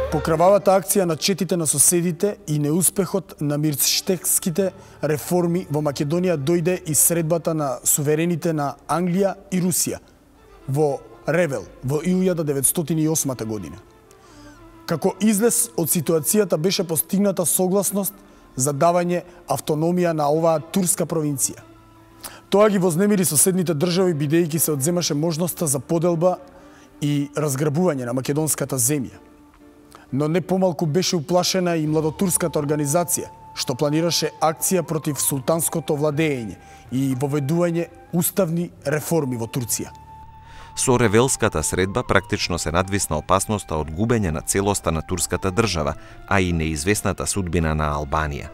По крававата акција на четите на соседите и неуспехот на мирштекските реформи во Македонија дојде и средбата на суверените на Англија и Русија во Ревел во 1908 година. Како излез од ситуацијата беше постигната согласност за давање автономија на оваа турска провинција. Тоа ги вознемири соседните држави бидејќи се одземаше можноста за поделба и разграбување на македонската земја. Но не помалку беше уплашена и младотурската организација, што планираше акција против султанското владење и воведување уставни реформи во Турција. Со Ревелската средба практично се надвисна опасноста од губење на целоста на турската држава, а и неизвестната судбина на Албанија.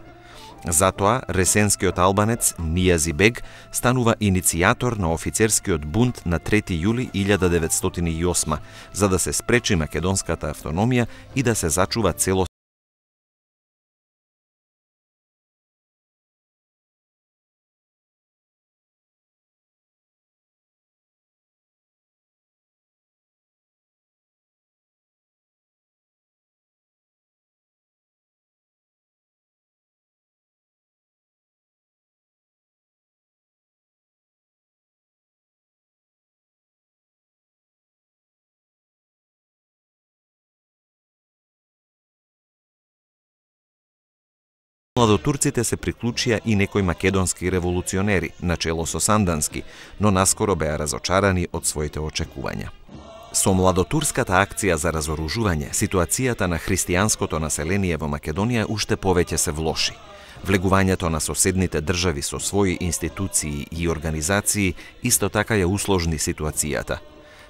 Затоа, ресенскиот албанец Нијази бег станува иницијатор на офицерскиот бунт на 3 јули 1908, за да се спречи македонската автономија и да се зачува целост Младотурците се приклучија и некои македонски револуционери, начело со Сандански, но наскоро беа разочарани од своите очекувања. Со младотурската акција за разоружување, ситуацијата на христијанското население во Македонија уште повеќе се влоши. Влегувањето на соседните држави со своји институции и организации исто така ја усложни ситуацијата.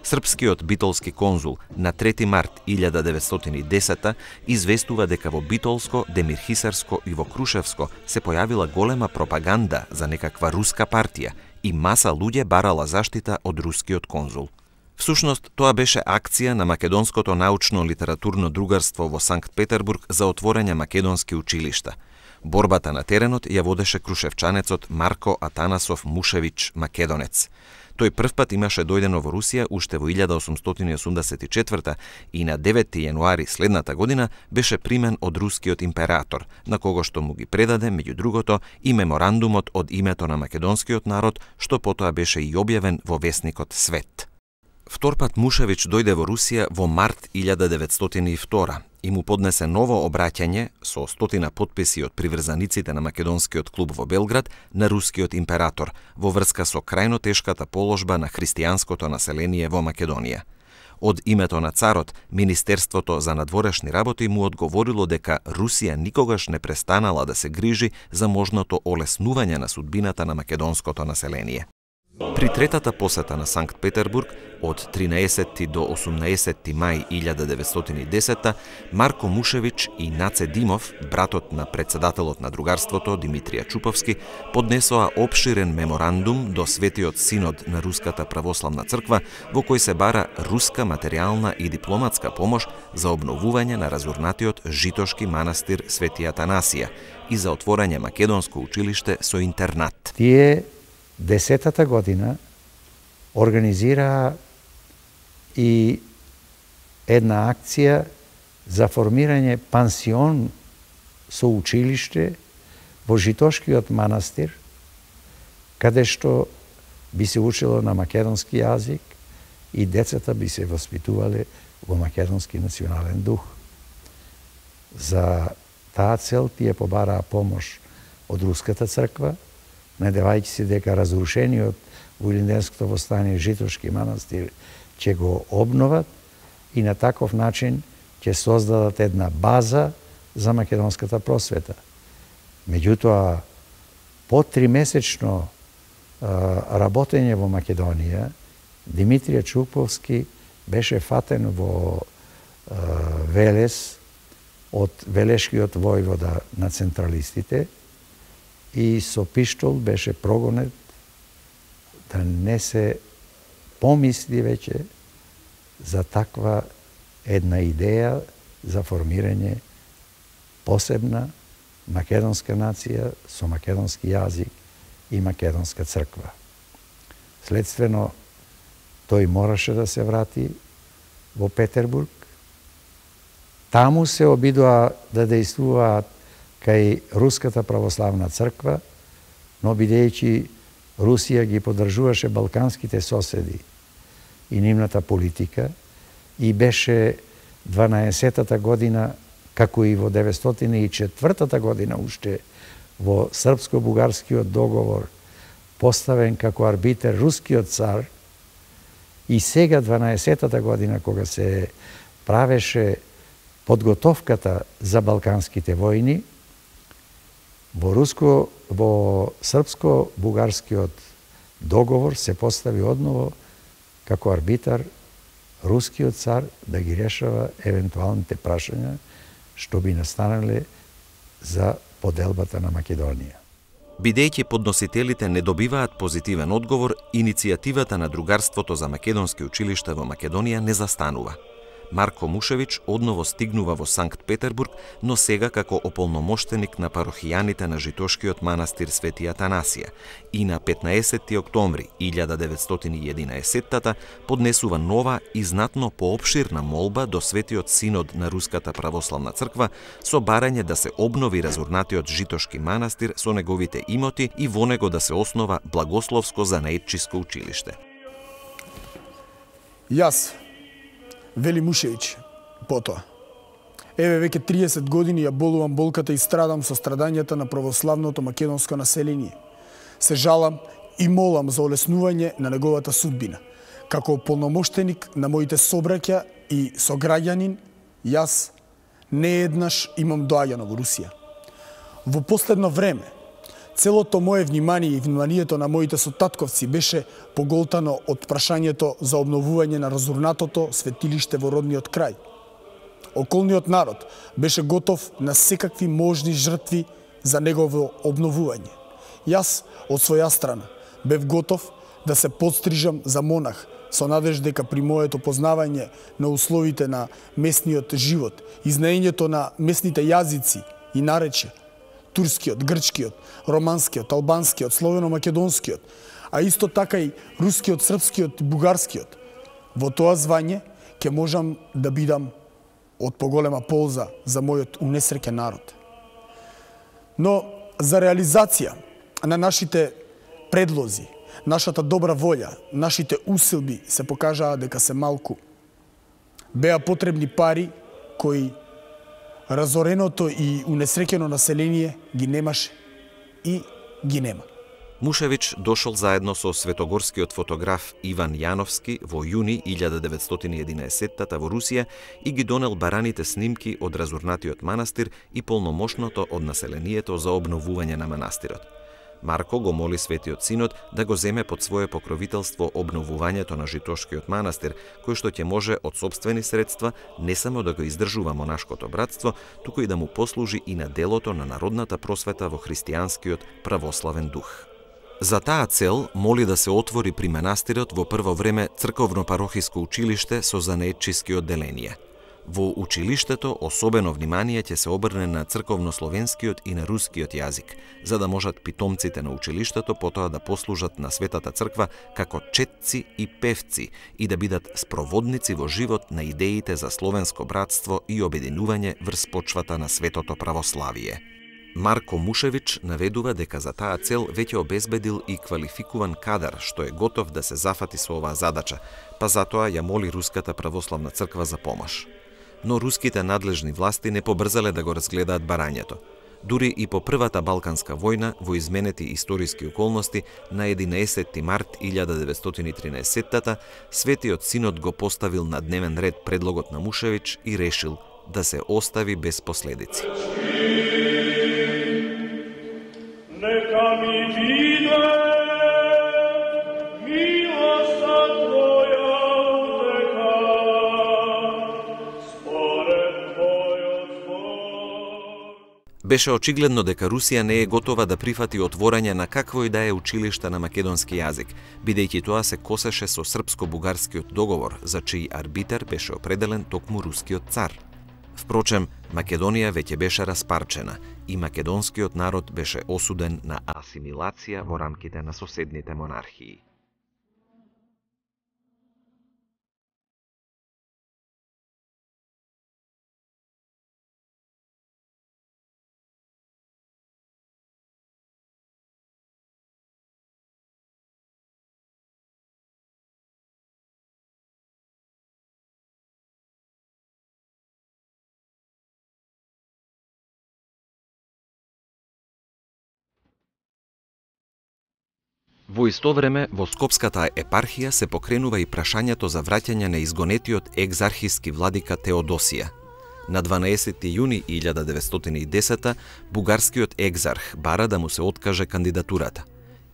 Српскиот битолски конзул на 3 март 1910 известува дека во Битолско, Демирхисарско и во Крушевско се појавила голема пропаганда за некаква руска партија и маса луѓе барала заштита од рускиот конзул. Всушност, тоа беше акција на Македонското научно-литературно другарство во Санкт Петербург за отворање македонски училишта. Борбата на теренот ја водеше крушевчанецот Марко Атанасов Мушевич Македонец. Тој првпат имаше дојдено во Русија уште во 1884 и на 9 јануари следната година беше примен од рускиот император, на кого што му ги предаде, меѓу другото, и меморандумот од името на македонскиот народ, што потоа беше и објавен во весникот Свет. Вторпат Мушевич дојде во Русија во март 1902 и му поднесе ново обраќање со 100 потписи од приврзаниците на македонскиот клуб во Белград на рускиот император во врска со крајно тешката положба на христијанското население во Македонија. Од името на царот, Министерството за надворешни работи му одговорило дека Русија никогаш не престанала да се грижи за можното олеснување на судбината на македонското население. При третата посета на Санкт Петербург од 13 до 18 мај 1910 Марко Мушевич и Наце Димов, братот на председателот на другарството Димитрија Чуповски, поднесоа опширен меморандум до Светиот синод на Руската православна црква во кој се бара руска материјална и дипломатска помош за обновување на разурнатиот житошки манастир Свети Атанасија и за отворање македонско училиште со интернат. Тие 10-та година организираа и една акција за формирање пансион со училиште во Житошкиот манастир, каде што би се учело на македонски јазик и децата би се воспитувале во македонски национален дух. За таа цел тие побараа помош од Руската црква, надевајќи се дека разрушениот во Илинденското востание Житошки манастир ќе го обноват и на таков начин ќе создадат една база за македонската просвета. Меѓутоа, по 3-месечно работење во Македонија, Димитрија Чуповски беше фатен во Велес од велешкиот војвода на централистите и со пиштол беше прогонет да не се помисли веќе за таква една идеја за формирање посебна македонска нација со македонски јазик и македонска црква. Следствено, тој мораше да се врати во Петербург, Таму се обидува да дејствуваат кај Руската православна црква, но бидејќи Русија ги поддржуваше балканските соседи и нивната политика и беше 12-та година, како и во 904 година уште во српско-бугарскиот договор поставен како арбитер рускиот цар, и сега 12-та година кога се правеше подготовката за балканските војни, во српско-бугарскиот договор се постави одново како арбитар рускиот цар да ги решава евентуалните прашања што би настанале за поделбата на Македонија. Бидејќи подносителите не добиваат позитивен одговор, иницијативата на другарството за македонски училишта во Македонија не застанува. Марко Мушевич одново стигнува во Санкт Петербург, но сега како ополномоштеник на парохијаните на Житошкиот манастир Свети Атанасија и на 15 октомври 1911 поднесува нова и знатно поопширна молба до Светиот Синод на Руската православна црква со барање да се обнови разурнатиот Житошки манастир со неговите имоти и во него да се основа благословско занаетчиско училиште. Јас, вели Мушевич, потоа. Еве веќе 30 години ја болувам болката и страдам со страдањата на православното македонско население. Се жалам и молам за олеснување на неговата судбина. Како полномоштеник на моите собраќа и сограѓанин, јас не еднаш имам доаѓано во Русија. Во последно време, целото мое внимание и вниманието на моите сотатковци беше поголтано од прашањето за обновување на разурнатото светилиште во родниот крај. Околниот народ беше готов на секакви можни жртви за негово обновување. Јас, од своја страна, бев готов да се подстрижам за монах со надеж дека при моето познавање на условите на местниот живот и знаењето на местните јазици и наречја, турскиот, грчкиот, романскиот, албанскиот, словено-македонскиот, а исто така и рускиот, српскиот и бугарскиот. Во тоа звање ќе можам да бидам од поголема полза за мојот унесреќен народ. Но за реализација на нашите предлози, нашата добра волја, нашите усилби се покажаа дека се малку. Беа потребни пари кои разореното и унесреќено население ги немаше и ги нема. Мушевич дошол заедно со светогорскиот фотограф Иван Јановски во јуни 1911 во Русија и ги донел бараните снимки од разурнатиот манастир и полномошното од населението за обновување на манастирот. Марко го моли Светиот Синод да го земе под свое покровителство обновувањето на Житошкиот манастир, кој што ќе може од сопствени средства не само да го издржува монашкото братство, туку и да му послужи и на делото на народната просвета во христијанскиот православен дух. За таа цел моли да се отвори при манастирот во прво време црковно-парохиско училиште со занаетчиски одделенија. Во училиштето особено внимание ќе се обрне на црковно-словенскиот и на рускиот јазик, за да можат питомците на училиштето потоа да послужат на Светата црква како четци и певци и да бидат спроводници во живот на идеите за словенско братство и обединување врз почвата на светото православие. Марко Мушевич наведува дека за таа цел веќе обезбедил и квалификуван кадар што е готов да се зафати со оваа задача, па затоа ја моли Руската православна црква за помош. Но руските надлежни власти не побрзале да го разгледаат барањето. Дури и по Првата Балканска војна, во изменети историски околности, на 11 март 1913 Светиот Синод го поставил на дневен ред предлогот на Мушевич и решил да се остави без последици. Нека ми биде милоста Твоја века, според Твојот збор. Беше очигледно дека Русија не е готова да прифати отворање на какво и да е училиште на македонски јазик, бидејќи тоа се косеше со српско-бугарскиот договор, за чиј арбитер беше определен токму рускиот цар. Впрочем, Македонија веќе беше распарчена и македонскиот народ беше осуден на асимилација во рамките на соседните монархии. Во исто време, во Скопската епархија се покренува и прашањето за враќање на изгонетиот екзархиски владика Теодосија. На 12 јуни 1910 бугарскиот екзарх бара да му се откаже кандидатурата.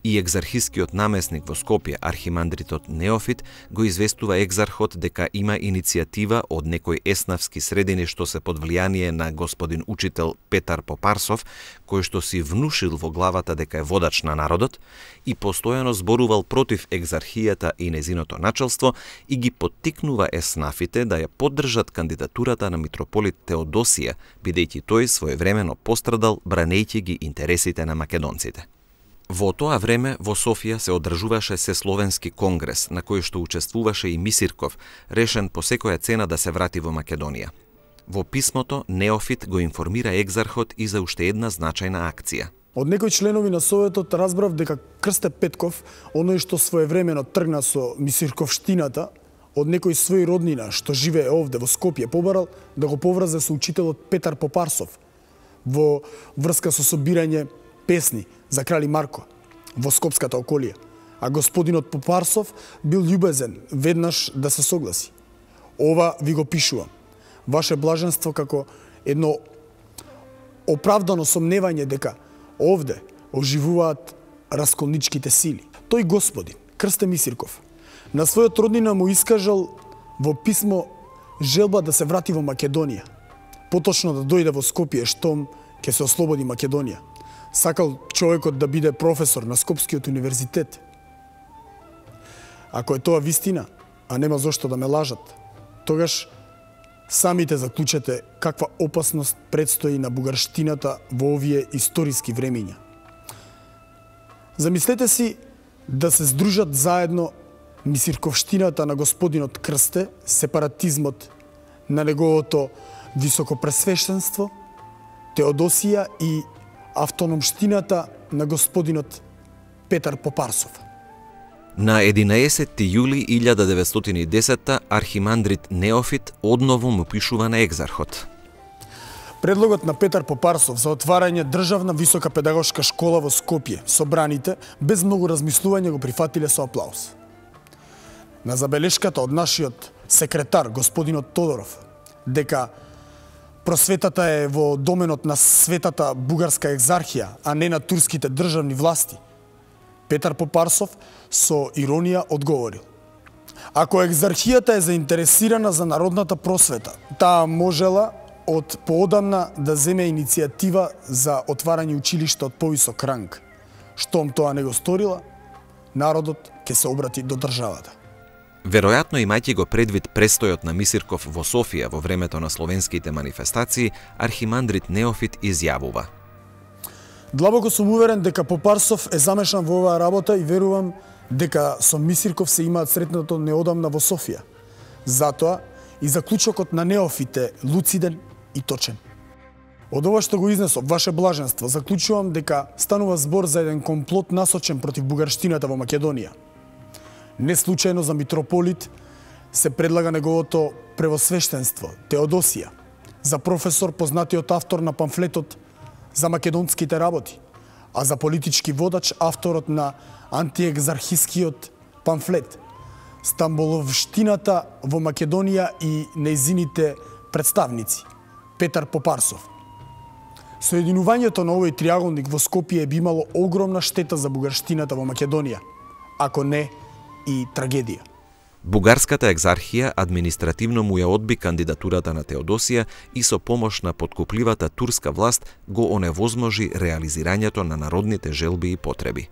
И екзархискиот намесник во Скопје, архимандритот Неофит, го известува екзархот дека има иницијатива од некои еснавски средини што се под влијание на господин учител Петар Попарсов, кој што си внушил во главата дека е водач на народот и постојано зборувал против екзархијата и незиното начелство и ги поттикнува еснафите да ја поддржат кандидатурата на митрополит Теодосија, бидејќи тој своевремено пострадал бранејќи ги интересите на македонците. Во тоа време во Софија се одржуваше Сесловенски конгрес, на кој што учествуваше и Мисирков, решен по секоја цена да се врати во Македонија. Во писмото Неофит го информира екзархот и за уште една значајна акција. Од некои членови на Советот разбрав дека Крсте Петков, оној што своевремено тргна со Мисирковштината, од некој свој роднина што живее овде во Скопје побарал да го поврзе со учителот Петар Попарсов во врска со собирање песни за крали Марко во Скопската околија, а господинот Попарсов бил љубезен веднаш да се согласи. Ова ви го пишувам, ваше блаженство, како едно оправдано сомневање дека овде оживуваат расколничките сили. Тој господин, Крсте Мисирков, на својот роднина му искажал во писмо желба да се врати во Македонија, поточно да дојде во Скопје штом ќе се ослободи Македонија. Сакал човекот да биде професор на Скопскиот универзитет. Ако е тоа вистина, а нема зошто да ме лажат, тогаш самите заклучете каква опасност предстои на бугарштината во овие историски времиња. Замислете си да се здружат заедно Мисирковштината на господинот Крсте, сепаратизмот на неговото високопресвещенство, Теодосија и автономштината на господинот Петар Попарсов. На 11 јули 1910 архимандрит Неофит одново му пишува на екзархот. Предлогот на Петар Попарсов за отварање државна висока педагошка школа во Скопје собраните без многу размислување го прифатиле со аплауз. На забелешката од нашиот секретар господинот Тодоров дека просветата е во доменот на светата бугарска екзархија, а не на турските државни власти, Петар Попарсов со иронија одговорил: ако екзархијата е заинтересирана за народната просвета, таа можела од поодамна да земе иницијатива за отварање училишта од повисок ранг. Штом тоа не го сторила, народот ќе се обрати до државата. Веројатно, имајќи го предвид престојот на Мисирков во Софија во времето на словенските манифестации, архимандрит Неофит изјавува: Длабоко сум уверен дека Попарсов е замешан во оваа работа и верувам дека со Мисирков се имаат сретнато неодамна во Софија. Затоа и заклучокот на Неофит е луциден и точен. Од ова што го изнесов, ваше блаженство, заклучувам дека станува збор за еден комплот насочен против бугарштината во Македонија. Не случајно за митрополит се предлага неговото превосвештенство, Теодосија, за професор познатиот автор на памфлетот за македонските работи, а за политички водач авторот на антиекзархискиот памфлет, Стамболовштината во Македонија и нејзините представници, Петар Попарсов. Соединувањето на овој триаголник во Скопје би имало огромна штета за бугарштината во Македонија, ако не и трагедија. Бугарската екзархија административно му ја одби кандидатурата на Теодосија и со помош на подкупливата турска власт го оневозможи реализирањето на народните желби и потреби.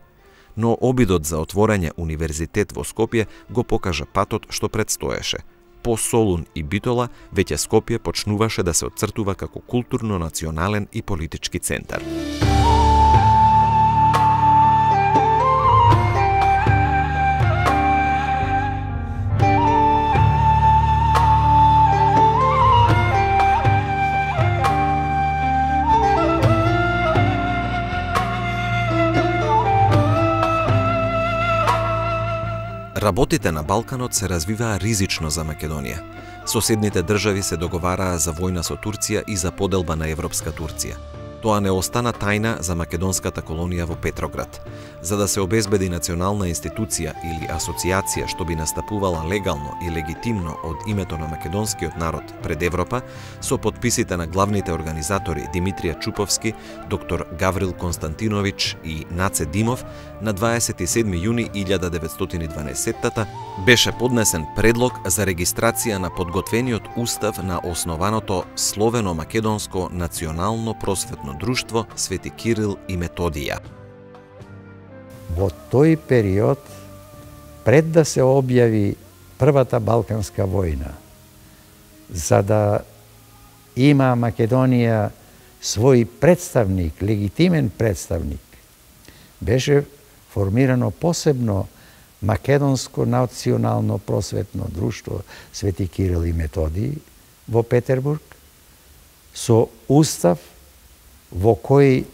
Но обидот за отворање универзитет во Скопје го покажа патот што предстоеше. По Солун и Битола, веќе Скопје почнуваше да се отцртува како културно-национален и политички центар. Работите на Балканот се развиваа ризично за Македонија. Соседните држави се договараа за војна со Турција и за поделба на Европска Турција. Тоа не остана тајна за македонската колонија во Петроград. За да се обезбеди национална институција или асоциација што би настапувала легално и легитимно од името на македонскиот народ пред Европа, со подписите на главните организатори Димитрија Чуповски, доктор Гаврил Константинович и Наце Димов, на 27 јуни 1912 беше поднесен предлог за регистрација на подготвениот устав на основаното Словено-македонско национално просветно друштво Свети Кирил и Методија. Во тој период, пред да се објави првата Балканска војна, за да има Македонија свој представник, легитимен представник, беше формирано посебно Македонско национално просветно друштво Свети Кирил и Методија во Петербург, со устав во кој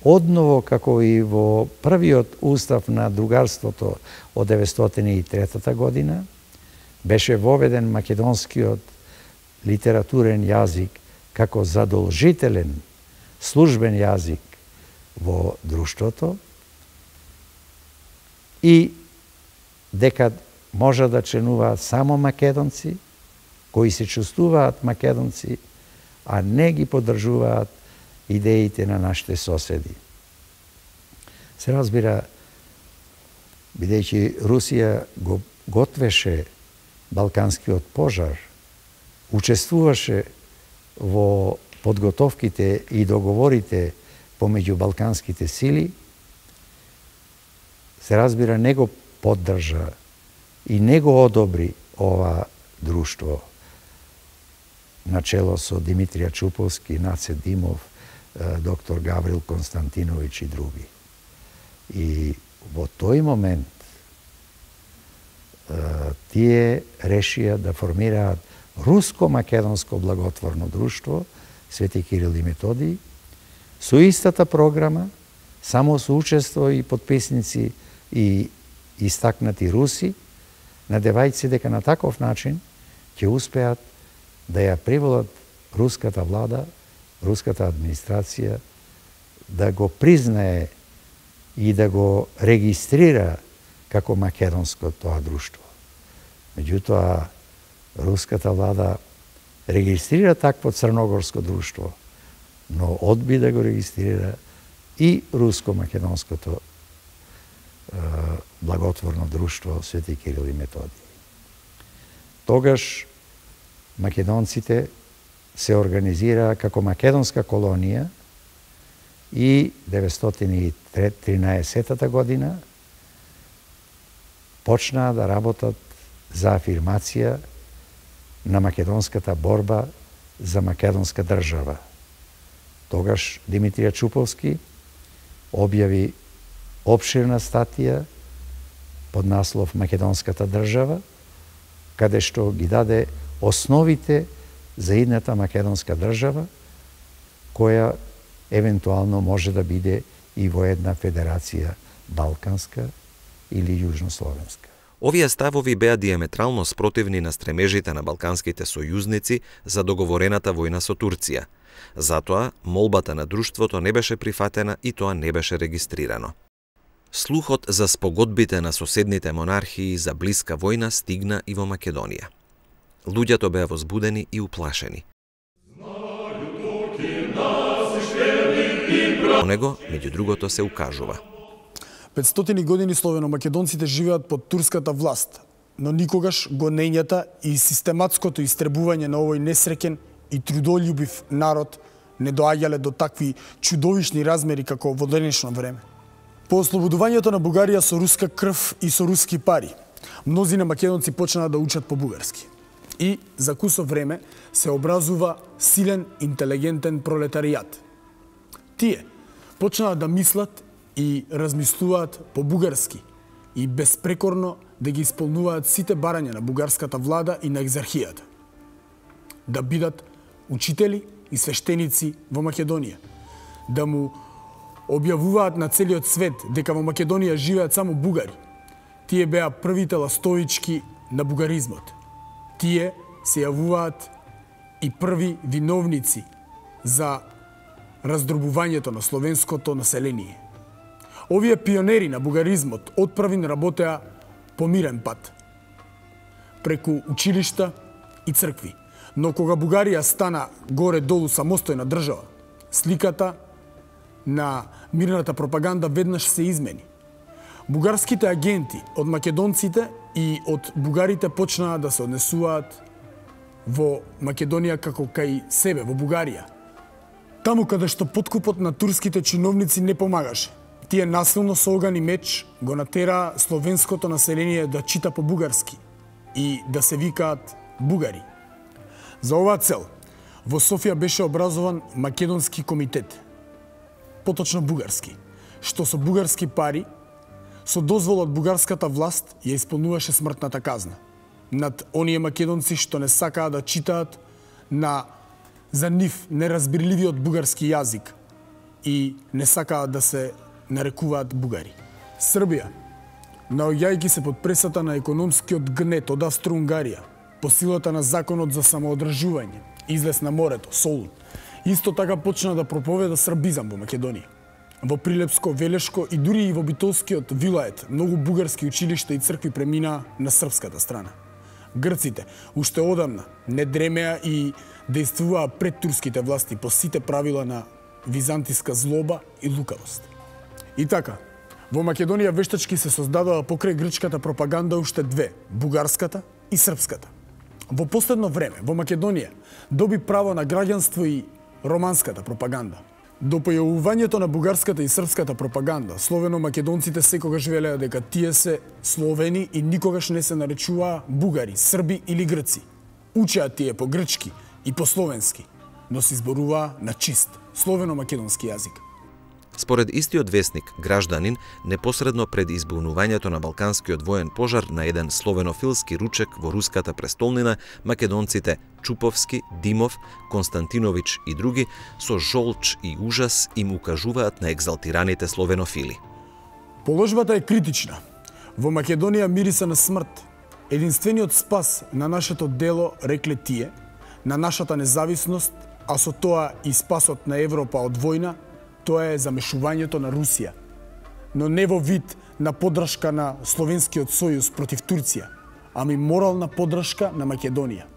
одново како и во првиот устав на другарството од 1903 година беше воведен македонскиот литературен јазик како задолжителен службен јазик во друштвото и дека може да членуваат само македонци кои се чувствуваат македонци, а не ги поддржуваат идеите на нашите соседи. Се разбира, бидејќи Русија го готвеше Балканскиот пожар, учествуваше во подготовките и договорите помеѓу балканските сили, се разбира, не го поддржа и не го одобри ова друштво начело со Димитрија Чуповски, Наце Димов, доктор Гаврил Константинович и други. И во тој момент тие решија да формираат Руско-македонско благотворно друштво Свети Кирил и Методија со истата програма, само со учество и подписници и истакнати руси, надевајќи дека на таков начин ќе успеат да ја приволат руската влада, руската администрација, да го признае и да го регистрира како македонско тоа друштво. Меѓутоа, руската влада регистрира такво црногорско друштво, но одби да го регистрира и руско-македонското благотворно друштво Свети Кирил и Методија. Тогаш македонците се организираа како македонска колонија и 1913 година почнаа да работат за афирмација на македонската борба за македонска држава. Тогаш Димитрија Чуповски објави опширна статија под наслов Македонската држава, каде што ги даде основите за идната македонска држава, која евентуално може да биде и во една федерација балканска или јужнословенска. Овие ставови беа диаметрално спротивни на стремежите на балканските сојузници за договорената војна со Турција. Затоа, молбата на друштвото не беше прифатена и тоа не беше регистрирано. Слухот за спогодбите на соседните монархии за блиска војна стигна и во Македонија. Луѓето беа возбудени и уплашени. Во него, меѓу другото, се укажува: 500 години словено-македонците живеат под турската власт, но никогаш гонењата и систематското истребување на овој несреќен и трудолюбив народ не доаѓале до такви чудовишни размери како во денешно време. По ослободувањето на Бугарија со руска крв и со руски пари, мнозина македонци почнаа да учат по бугарски. И за кусо време се образува силен, интелигентен пролетаријат. Тие почнаа да мислат и размислуваат по бугарски и безпрекорно да ги исполнуваат сите барања на бугарската влада и на екзархијата. Да бидат учители и свештеници во Македонија, да му објавуваат на целиот свет дека во Македонија живеат само бугари. Тие беа првите ластовички на бугаризмот. Тие се јавуваат и први виновници за раздробувањето на словенското население. Овие пионери на бугаризмот отправи работеа по мирен пат, преку училишта и цркви. Но кога Бугарија стана горе-долу самостојна држава, сликата на мирната пропаганда веднаш се измени. Бугарските агенти од македонците и од бугарите почнаа да се однесуваат во Македонија како кај себе, во Бугарија. Таму каде што подкупот на турските чиновници не помагаше, тие насилно со оган и меч го натераа словенското население да чита по бугарски и да се викаат бугари. За оваа цел, во Софија беше образован Македонски комитет, поточно бугарски, што со бугарски пари, со дозвола од бугарската власт, ја исполнуваше смртната казна над оние македонци што не сакаа да читаат на за нив неразбирливиот бугарски јазик и не сакаат да се нарекуваат бугари. Србија, наоѓајќи се под пресата на економскиот гнет од Австро-Унгарија, по силата на законот за самоодржување, излез на морето, Солун, исто така почна да проповеда србизам во Македонија. Во Прилепско, Велешко и дури и во Битолскиот вилает многу бугарски училишта и цркви преминаа на српската страна. Грците уште одамна не дремеа и действуваа пред турските власти по сите правила на византиска злоба и лукавост. И така, во Македонија вештачки се создадоа покрај грчката пропаганда уште две, бугарската и српската. Во последно време, во Македонија, доби право на граѓанство и романската пропаганда. До појавувањето на бугарската и српската пропаганда, словено-македонците секогаш велеа дека тие се словени и никогаш не се наречуваа бугари, срби или грци. Учеа тие по грчки и по словенски, но се изборуваа на чист словено-македонски јазик. Според истиот весник, Гражданин, непосредно пред избунувањето на Балканскиот воен пожар на еден словенофилски ручек во руската престолнина, македонците Чуповски, Димов, Константинович и други со жолч и ужас им укажуваат на екзалтираните словенофили. Положбата е критична. Во Македонија мириса на смрт. Единствениот спас на нашето дело, рекле тие, на нашата независност, а со тоа и спасот на Европа од војна, тоа е замешувањето на Русија, но не во вид на поддршка на Словенскиот сојуз против Турција, ами морална поддршка на Македонија.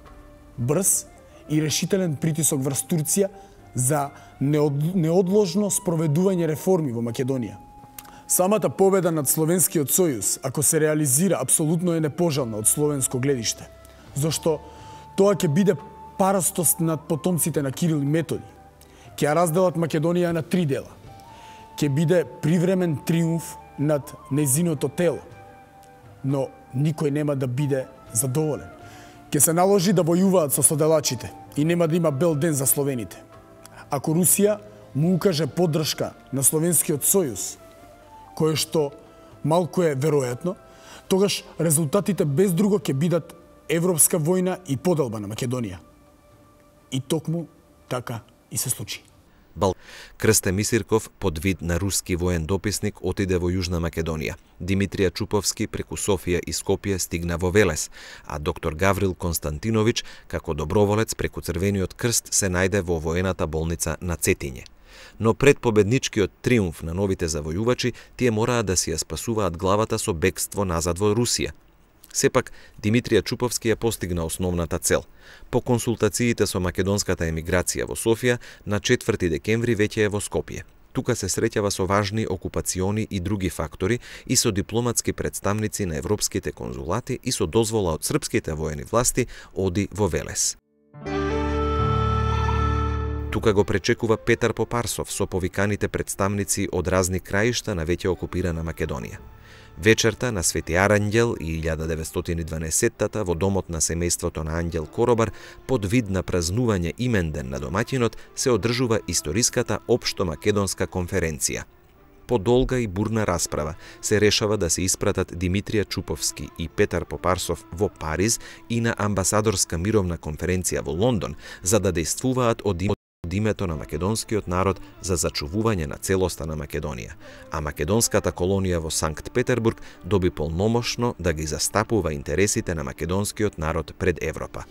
Брз и решителен притисок врз Турција за неодложно спроведување реформи во Македонија. Самата победа над Словенскиот сојуз, ако се реализира, апсолутно е непожелна од словенско гледиште, зашто тоа ќе биде парастост над потомците на Кирил и Методи. Ќе ја разделат Македонија на три дела. Ќе биде привремен триумф над нејзиното тело, но никој нема да биде задоволен. Ќе се наложи да војуваат со соделачите и нема да има бел ден за словените. Ако Русија му укаже поддршка на Словенскиот сојуз, кое што малку е веројатно, тогаш резултатите без друго ќе бидат европска војна и поделба на Македонија. И токму така и се случи. Крсте Мисирков, под вид на руски воен дописник, отиде во Јужна Македонија. Димитрија Чуповски преку Софија и Скопје стигна во Велес, а доктор Гаврил Константинович, како доброволец преку Црвениот крст, се најде во воената болница на Цетиње. Но пред победничкиот триумф на новите завојувачи, тие мораа да си ја спасуваат главата со бегство назад во Русија. Сепак, Димитрија Чуповски ја постигна основната цел. По консултациите со македонската емиграција во Софија, на 4 декември веќе е во Скопје. Тука се среќава со важни окупациони и други фактори и со дипломатски представници на европските конзулати и со дозвола од српските воени власти оди во Велес. Тука го пречекува Петар Попарсов со повиканите представници од разни краишта на веќе окупирана Македонија. Вечерта на Свети Аранѓел и 1912-тата во домот на семејството на Анѓел Коробар, под вид на празнување именден на домаќинот, се одржува историската општо македонска конференција. По долга и бурна расправа се решава да се испратат Димитрија Чуповски и Петар Попарсов во Париз и на амбасадорска мировна конференција во Лондон, за да дејствуваат од името на македонскиот народ за зачувување на целоста на Македонија, а македонската колонија во Санкт Петербург доби полномошно да ги застапува интересите на македонскиот народ пред Европа.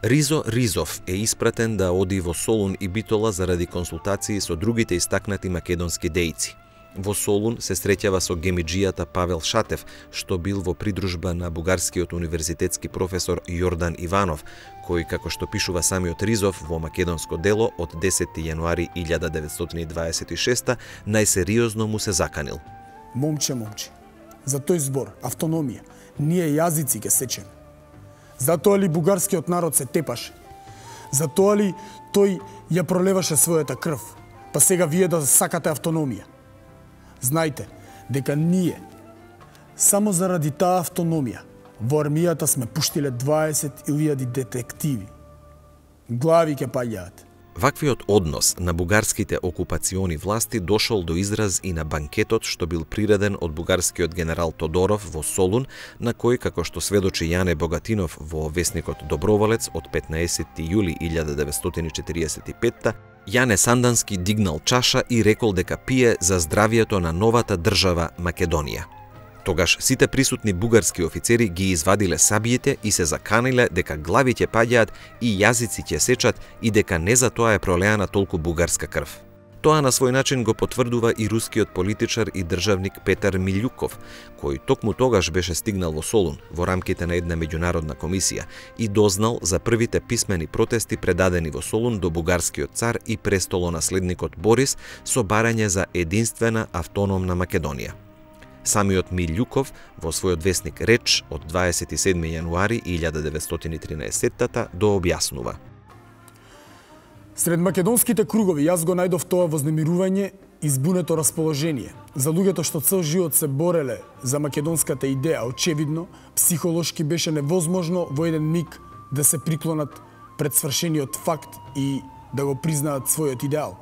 Ризо Ризов е испратен да оди во Солун и Битола заради консултации со другите истакнати македонски дејци. Во Солун се среќава со гемиџијата Павел Шатев, што бил во придружба на бугарскиот универзитетски професор Јордан Иванов, кој, како што пишува самиот Ризов во македонско дело од 10. јануари 1926, најсериозно му се заканил. Момче, за тој збор, автономија, ние јазици ке сечеме. Затоа ли бугарскиот народ се тепаше? Затоа ли тој ја пролеваше својата крв? Па сега вие да сакате автономија? Знајте дека ние, само заради таа автономија, во армијата сме пуштиле 20.000 детективи. Глави ке паѓаат. Ваквиот однос на бугарските окупациони власти дошол до израз и на банкетот што бил приреден од бугарскиот генерал Тодоров во Солун, на кој, како што сведочи Јане Богатинов во весникот Доброволец од 15. јули 1945, Јане Сандански дигнал чаша и рекол дека пие за здравието на новата држава Македонија. Тогаш сите присутни бугарски офицери ги извадиле сабиите и се заканиле дека глави ќе паѓаат и јазици ќе сечат и дека не за тоа е пролеана толку бугарска крв. Тоа на свој начин го потврдува и рускиот политичар и државник Петар Милјуков, кој токму тогаш беше стигнал во Солун во рамките на една меѓународна комисија и дознал за првите писмени протести предадени во Солун до бугарскиот цар и престолонаследникот Борис со барање за единствена автономна Македонија. Самиот Милјуков во својот весник Реч од 27. јануари 1913 дообјаснува. Сред македонските кругови јас го најдов тоа вознемирување и збунето расположение. За луѓето што цел живот се бореле за македонската идеја, очевидно, психолошки беше невозможно во еден миг да се приклонат пред свршениот факт и да го признаат својот идеал.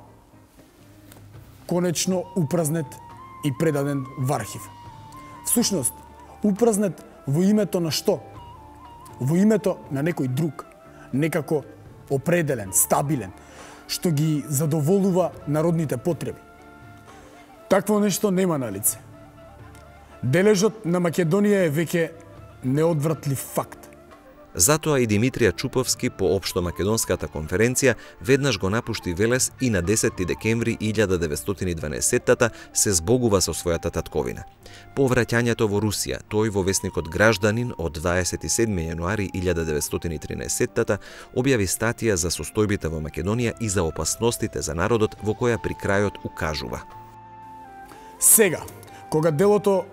Конечно упразнет и предаден во архив. Всушност, упразнет во името на што? Во името на некој друг, некако определен, стабилен, што ги задоволува народните потреби. Такво нешто нема на лице. Дележот на Македонија е веќе неодвратлив факт. Затоа и Димитрија Чуповски по Општомакедонската конференција веднаш го напушти Велес и на 10 декември 1912 се збогува со својата татковина. По враќањето во Русија, тој во весникот Гражданин од 27. јануари 1913 објави статија за состојбите во Македонија и за опасностите за народот, во која при крајот укажува: Сега, кога делото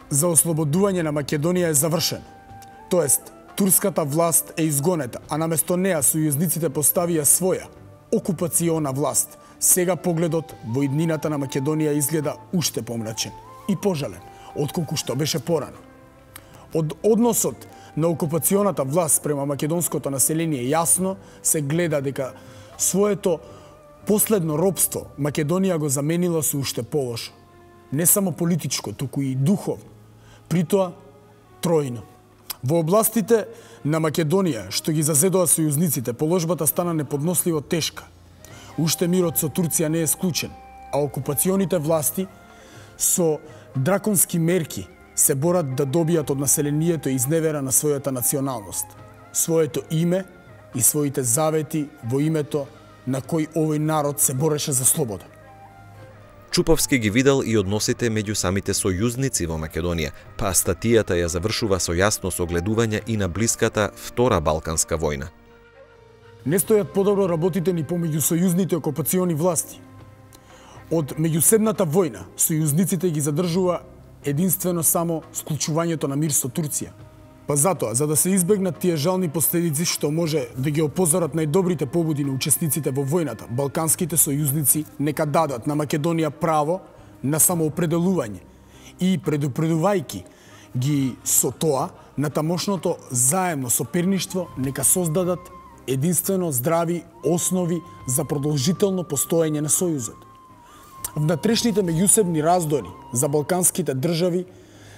за ослободување на Македонија е завршено, тоест турската власт е изгонета, а наместо неа сојузниците поставија своја окупациона власт, сега погледот во иднината на Македонија изгледа уште помрачен и пожален, отколку што беше порано. Од односот на окупационата власт према македонското население јасно се гледа дека своето последно робство Македонија го заменила со уште полошо. Не само политичко, туку и духовно, притоа тројно. Во областите на Македонија, што ги зазедоа сојузниците, положбата стана неподносливо тешка. Уште мирот со Турција не е склучен, а окупационите власти со драконски мерки се борат да добијат од населението изневера на својата националност, своето име и своите завети во името на кој овој народ се бореше за слобода. Чуповски ги видел и односите меѓу самите сојузници во Македонија, па статијата ја завршува со јасно согледување и на блиската Втора Балканска војна. Не стојат подобро работите ни помеѓу сојузните окупациони власти. Од меѓуседната војна, сојузниците ги задржува единствено само склучувањето на мир со Турција. Па затоа, за да се избегнат тие жални последици што може да ги опозорат најдобрите побуди на учесниците во војната, балканските сојузници нека дадат на Македонија право на самоопределување и предупредувајќи ги со тоа на тамошното заемно соперништво нека создадат единствено здрави основи за продолжително постоење на сојузот. Внатрешните меѓусебни раздори за балканските држави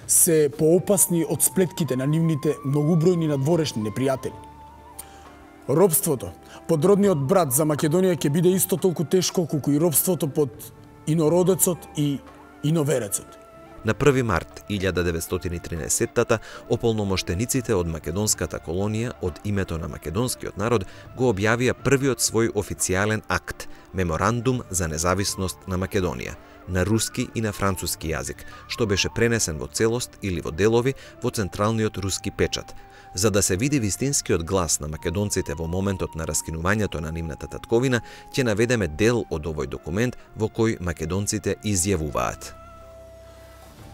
се поопасни од сплетките на нивните многубројни надворешни непријатели. Робството под родниот брат за Македонија ќе биде исто толку тешко колку и робството под инородецот и иноверецот. На 1 март 1913 ополномоштениците од македонската колонија од името на македонскиот народ го објавија првиот свој официјален акт, Меморандум за независност на Македонија, на руски и на француски јазик, што беше пренесен во целост или во делови во централниот руски печат, за да се види вистинскиот глас на македонците во моментот на раскинувањето на нивната татковина, ќе наведеме дел од овој документ во кој македонците изјавуваат.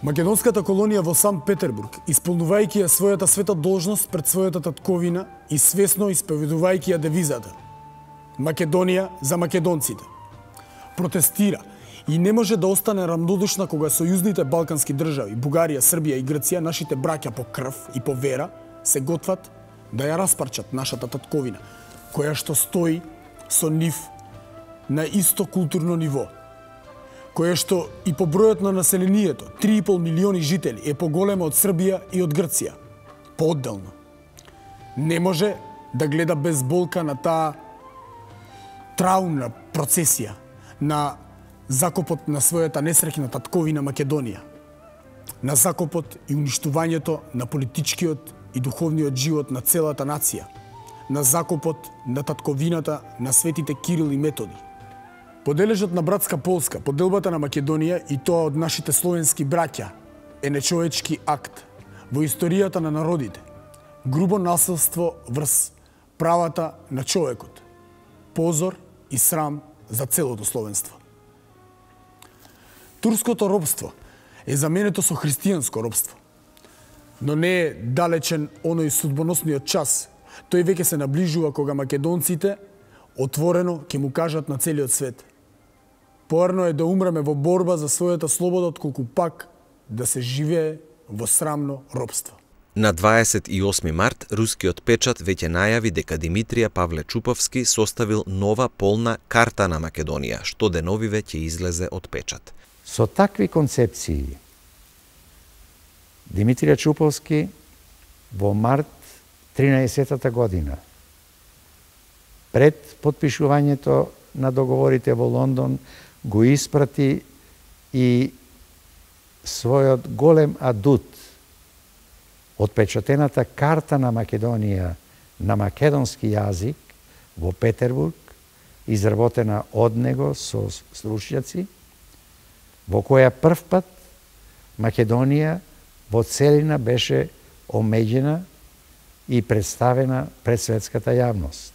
Македонската колонија во Санкт Петербург, исполнувајќи ја својата света должност пред својата татковина и свесно исповедувајќи ја девизата Македонија за македонците, протестира и не може да остане рамнодушна кога сојузните балкански држави, Бугарија, Србија и Грција, нашите браќа по крв и по вера, се готват да ја распарчат нашата татковина, која што стои со нив на исто културно ниво, која што и по бројот на населението, 3,5 милиони жители, е поголема од Србија и од Грција, поодделно. Не може да гледа без болка на таа траумна процесија на закопот на својата несреќна татковина Македонија, на закопот и уништувањето на политичкиот и духовниот живот на целата нација, на закопот на татковината на светите Кирил и Методи. Подележот на братска Полска, поделбата на Македонија и тоа од нашите словенски браќа е нечовечки акт во историјата на народите, грубо насилство врз правата на човекот, позор и срам за целото словенство. Турското робство е заменето со христијанско робство, но не е далечен оној судбоносниот час. Тој веќе се наближува кога македонците отворено ќе му кажат на целиот свет: поарно е да умреме во борба за својата слобода, отколку пак да се живее во срамно робство. На 28 март, рускиот печат веќе најави дека Димитрија Павле Чуповски составил нова полна карта на Македонија, што деновиве ќе излезе од печат. Со такви концепции, Димитрија Чуповски во март 13-та година, пред потпишувањето на договорите во Лондон, го испрати и својот голем адут, отпечатената карта на Македонија на македонски јазик во Петербург, изработена од него со стручњаци, во која прв пат Македонија во целина беше омеѓена и представена пред светската јавност.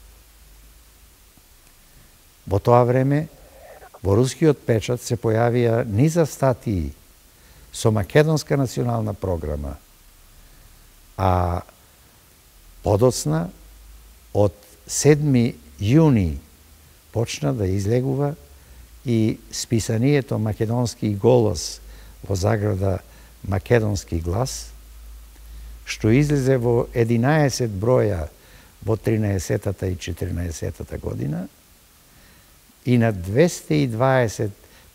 Во тоа време, во рускиот печат се појавија низа статии со македонска национална програма, а подоцна, од 7 јуни, почна да излегува и списанието Македонски голос во заграда Македонски глас, што излезе во 11 броја во 13-та и 14-та година и на 220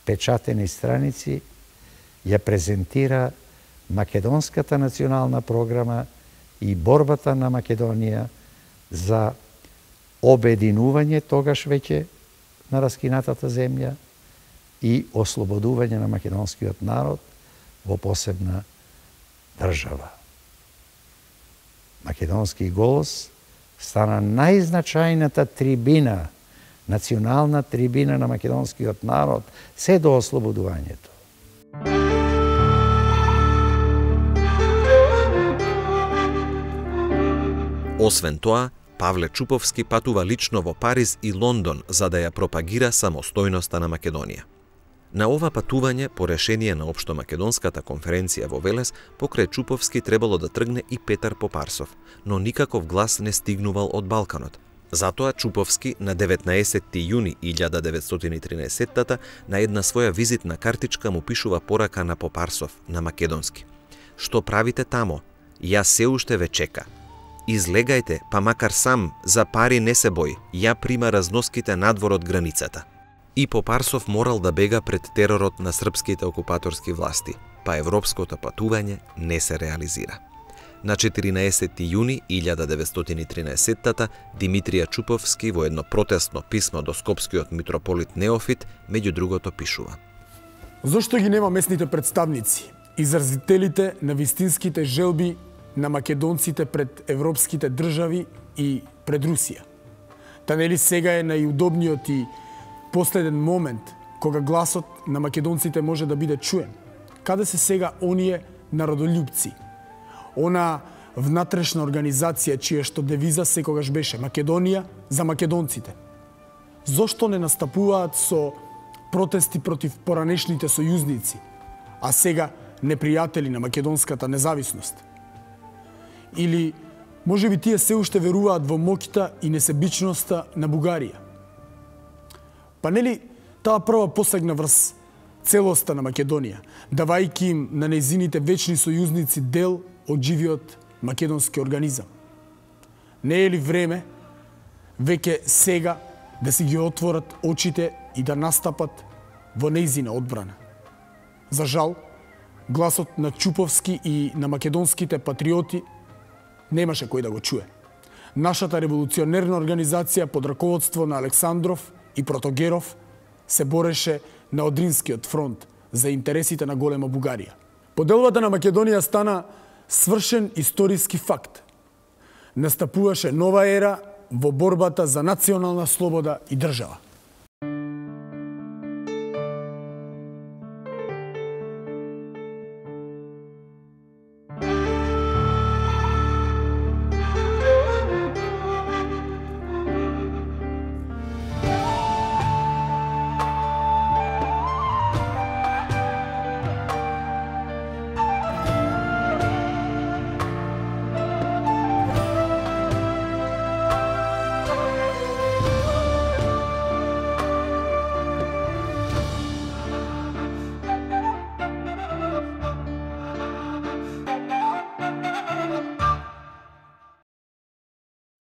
печатени страници ја презентира Македонската национална програма и борбата на Македонија за обединување тогаш веќе на раскинатата земја и ослободување на македонскиот народ во посебна држава. Македонски голос стана најзначајната трибина, национална трибина на македонскиот народ се до ослободувањето. Освен тоа, Павле Чуповски патува лично во Париз и Лондон за да ја пропагира самостојноста на Македонија. На ова патување, по решение на Општомакедонската конференција во Велес, покрај Чуповски требало да тргне и Петар Попарсов, но никаков глас не стигнувал од Балканот. Затоа Чуповски на 19 јуни 1913 на една своја визитна картичка му пишува порака на Попарсов на македонски: "Што правите тамо? Ја се уште ве чека. Излегајте, па макар сам, за пари не се бој, ја прима разноските надвор од границата." И Попарсов морал да бега пред теророт на српските окупаторски власти, па европското патување не се реализира. На 14 јуни 1913 Димитрија Чуповски во едно протестно писмо до скопскиот митрополит Неофит меѓу другото пишува: "Зошто ги нема местните представници изразителите на вистинските желби на македонците пред европските држави и пред Русија. Та нели сега е најудобниот и последен момент кога гласот на македонците може да биде чуен? Каде се сега оние народолюбци? Она внатрешна организација чија што девиза секогаш беше Македонија за македонците. Зошто не настапуваат со протести против поранешните сојузници, а сега непријатели на македонската независност? Или можеби тие се уште веруваат во моќта и несебичноста на Бугарија? Па нели таа прва посегна врз целоста на Македонија, давајќи им на нејзините вечни сојузници дел од живиот македонски организам? Не е ли време веќе сега да си ги отворат очите и да настапат во нејзина одбрана? За жал, гласот на Чуповски и на македонските патриоти немаше кој да го чуе. Нашата револуционерна организација под раководство на Александров и Протогеров се бореше на Одринскиот фронт за интересите на голема Бугарија. Поделбата на Македонија стана свршен историски факт. Настапуваше нова ера во борбата за национална слобода и држава.